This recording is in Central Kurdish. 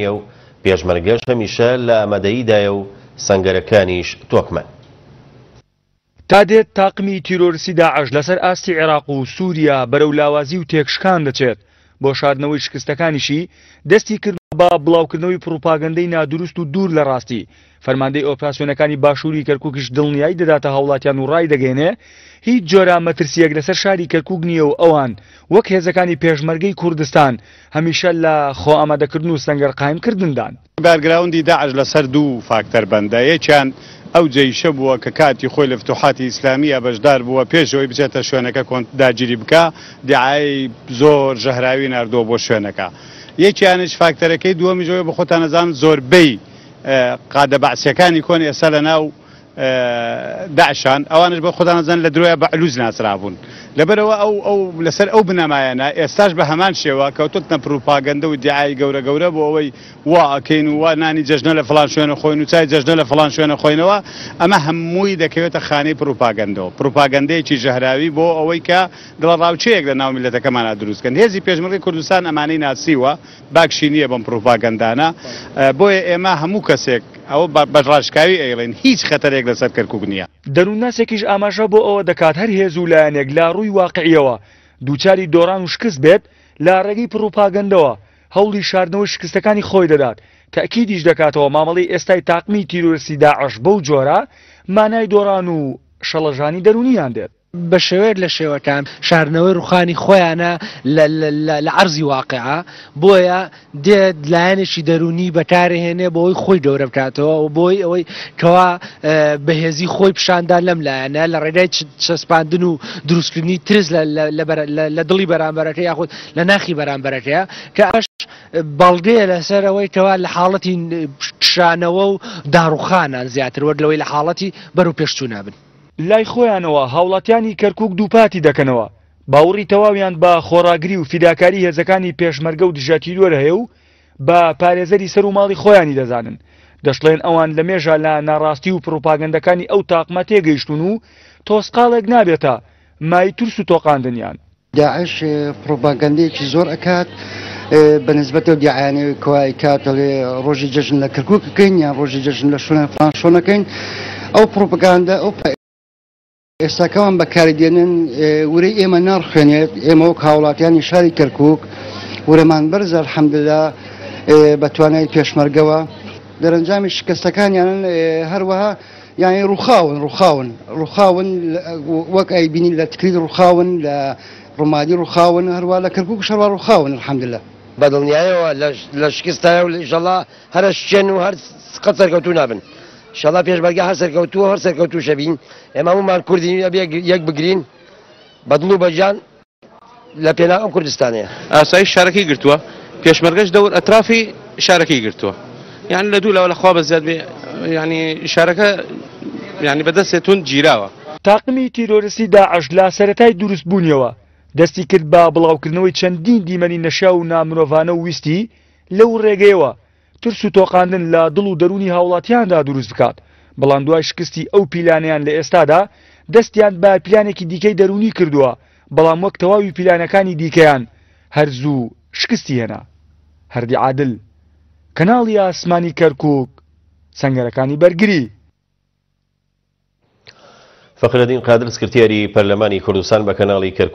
نییە و پێشمەرگەش هەمیشە لە ئامادەییدایە و سەنگەرەکانیش تۆکمەن. تا دێت تاقمی تیرۆرستی داعش لەسەر ئاستی عێراق و سوریا بەرەو لاوازی و تێکشکان دەچێت، بۆ شاردنەوەی شکستەکانیشی دەستی کردووە بە بڵاوکردنەوەی پڕوپاگەندەی نادروست و دوور لە ڕاستی، فەرماندەی ئۆپراسیۆنەکانی باشووری کەرکوکیش دڵنیایی دەداتە هاوڵاتیان و ڕایدەگەیەنێ هیچ جۆرە مەترسییەک لەسەر شاری کەرکوک نییە و ئەوان وەک هێزەکانی پێشمەرگەی کوردستان هەمیشە لە خۆئامادەکردن و سەنگەر قایمکردندان. بارگراوندی داعش لەسەر دوو فاکتەر بەندە، یەکیان ئەو جەیشە بووە کە کاتی خۆی لە فتوحاتی ئیسلامییا بەشدار بووە، پێش ئەوەی بچێتە شوێنەکە کۆنت داگیری بکا، دیعایەی زۆر ژەهراوی ناردووە بۆ شوێنەکە. یەکیانیش فاکتەرەکەی دووەمیش ئەوەیە بۆ خۆتان ئەزانن زۆربەی قادە بەعسیەکانی کۆن ئێستا لە ناو داعشان، ئەوانش بۆ خۆتان ئەزانن لە درۆیا بە علوز ناسرابوون. لەبەرئەوە ئەو ئەو لەسەر ئەو بنەمایانە ئێستاش بە هەمان شێوە کەوتۆتنە پروپاگەندە و دیعای گەورە گەورە بۆ ئەوەی وا ئەکەین و وا نانی جەژنە لە فڵان شوێنە خۆین و چای جەژنە لە فڵان شوێنە خۆینەوە، ئەمە هەمووی دەکەوێتە خانەی پروپاگەندەوە، پروپاگەندەیەکی ژەهراوی بۆ ئەوەی کە دڵەڕاوکێیەک لە ناو میللەتەکەمانا دروست کەن. هێزی پێشمەرگەی کوردستان ئەمانەی ناسیوە، باکشی نییە بەم پروپاگەندانە، بۆیە ئێمە هەموو کەسێک ئەوە بە ڕاشکاوی ئەیڵێین هیچ خەتەرێک لەسەر کەرکوک نییە. دەروونناسێکیش ئاماژە بۆ ئەوە دەکات هەر هێز و لایەنێک لە ڕووی واقعییەوە دووچاری دۆڕان و شکست بێت، لە ڕێگەی پڕوپاگەندەوە هەوڵی شاردنەوەی شکستەکانی خۆی دەدات، تەئکیدیش دەکاتەوە مامەڵەی ئێستای تاقمی تیرۆرستی داعش بەو جۆرە مانای دۆڕان و شڵەژانی دەروونیان دێت. بە شێوەیەک لە شێوەکان شاردنەوەی ڕوخانی خۆیانە لە عەرزی واقیع، بۆیە دێت لایەنێکی دەروونی بەکارهێنێ بۆ ئەوەی خۆی گەورە بکاتەوە و بۆی ئەوەی کەوا بەهێزی خۆی پیشاندا لەم لایەنە لە ڕێگای چەسپاندن و دروستکردنی ترس لە دڵی بەرامبەرەکە یاخود لە ناخی بەرامبەرەکەیە کە ئەمەش بەڵگەیە لەسەر ئەوەی کەوا لە حاڵەتی کشانەوە و داڕوخانان زیاتر وەک لەوەی لە حاڵەتی بەرەو پێشچوونا بن. لای خۆیانەوە هاوڵاتیانی کەرکوک دووپاتی دەکەنەوە، باوڕی تەواویان بە خۆڕاگری و فیداکاری هێزەکانی پێشمەرگە و دژە تیرۆر هەیە و بە پارێزەری سەر و ماڵی خۆیانی دەزانن، دەشڵێن ئەوان لە مێژە لە ناڕاستی و پڕوپاگەندەکانی ئەو تاقمە تێگەیشتوون و تۆزقاڵێک نابێتە مایەی ترس و تۆقاندنیان. داعش پڕوپاگەندەیەکی زۆر ئەکات بە نسبەت ئەو دیعایانەی کوا ئەیکات دەڵێ ڕۆژی جەژن لە کەرکوک ئەکەین یان ڕۆژی جەژن لە شوێن فڵان شۆن ئەکەین ئەو پڕوپگاندە ئەو ئێستاکەوان بەکاری دێنن ورەی ئێمە ناڕخێنێت ئێمە وەک هاوڵاتیانی شاری کەرکوک ورەمان بەرزە الحمدلله بە توانای پێشمەرگەوە دەرەنجامی شکستەکانیانن هەروەها یانی ڕوخاون ڕوخاون ڕوخاون وەک ئەیبینین لە تکریت ڕوخاون لە ڕومادی ڕوخاون هەروە لە کەرکوک شەڕوا ڕوخاون الحمدللە. بە دڵنیایەوە لە شکستایە و ئیشەڵا هەر ئەشکێن و هەر قەت سەرکەوتوو نابن ئیشەڵا پێشمەرگە هەر سەرکەوتووە هەر سەرکەوتووشە بین ئێمە هەموومان کوردین ئەبێ یەک بگرین بە دڵ و بە گیان لە پێناو ئەم کوردستانەیە. ئاسایش شارەکەی گرتووە، پێشمەرگەش دەور ئەترافی شارەکەی گرتووە. یانی لە دوو لاوە لە خوا بەزیاد بێ یانی شارەکە یانی بە دەستێ توند گیراوە. تاقمی تیرۆرستی داعش لە سەرەتای دروست بوونیەوە دەستی کرد بە بڵاوکردنەوەی چەندین دیمەنی نەشیاو و نامرۆڤانە و ویستی لەو ڕێگەیەوە ترس و تۆقاندن لە دڵ و دەروونی هاوڵاتیاندا دروست بکات، بەڵام دوای شکستی ئەو پیلانەیان لە ئێستادا دەستیان بە پیلانێکی دیکەی دەروونی کردووە، بەڵام وەک تەواوی پیلانەکانی دیکەیان هەر زوو شکستی هێنا. هەردی عادل، کەناڵی ئاسمانی کەرکوک، سەنگەرەکانی بەرگری. فەخرەدین قادر سکرتێری پەرلەمانی کوردستان بە کەناڵی کەرکوک.